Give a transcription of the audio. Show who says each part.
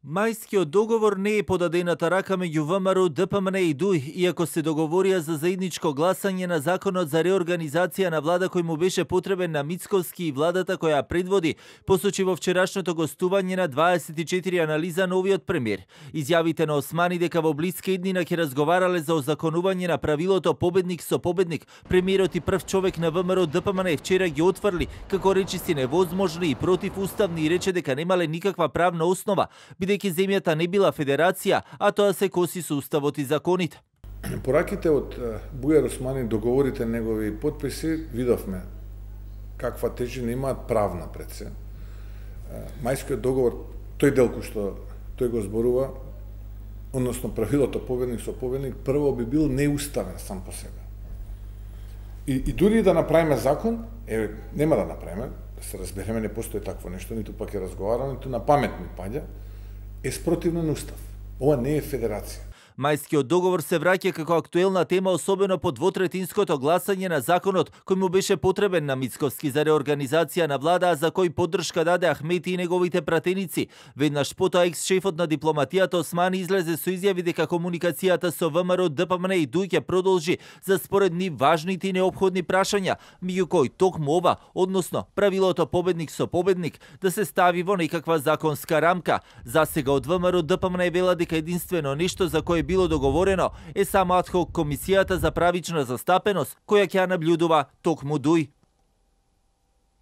Speaker 1: Мајскиот договор не е подадената рака меѓу ВМРО, ДПМН и ДУИ, иако се договорија за заедничко гласање на законот за реорганизација на влада кој му беше потребен на Мицковски и владата која предводи, посочи во вчерашното гостување на 24 анализа новиот премиер. Изјавите на Османи дека во блиска иднина ќе разговарале за озаконување на правилото победник со победник, премиерот и прв човек на ВМРО ДПМН вчера ги отфрли како речиси невозможни и противуставни и рече дека немале никаква правна основа, бидејќи земјата не била федерација, а тоа се коси со уставот и законите.
Speaker 2: Пораките од Бујар Османи, договорите негови подписи, видовме каква тежина имаат правна пред се. Мајскиот договор, тој дел кој што тој го зборува, односно правилото победник со победник, прво би бил неуставен сам по себе. И дури да направиме закон, нема да направиме, да се разбереме, не постои такво нешто, ниту пак е разговарано, ниту на памет ми паѓа, е спротивно на устав. Ова не е федерација.
Speaker 1: Мајскиот договор се враќа како актуелна тема, особено по двотретинското гласање на законот кој му беше потребен на Мицковски за реорганизација на влада, а за кој поддршка даде Ахмети и неговите пратеници. Веднаш потоа екс-шефот на дипломатијата Османи излезе со изјави дека комуникацијата со ВМРО, ДПМН и ДУИ ќе продолжи за според нив важните и неопходни прашања, меѓу кои токму ова, односно правилото победник со победник, да се стави во некаква законска рамка. Засега од ВМРО, ДПМН вела дека единствено нешто за кое било договорено е само адхок комисијата за правична застапеност, која ќе ја набљудува токму ДУИ.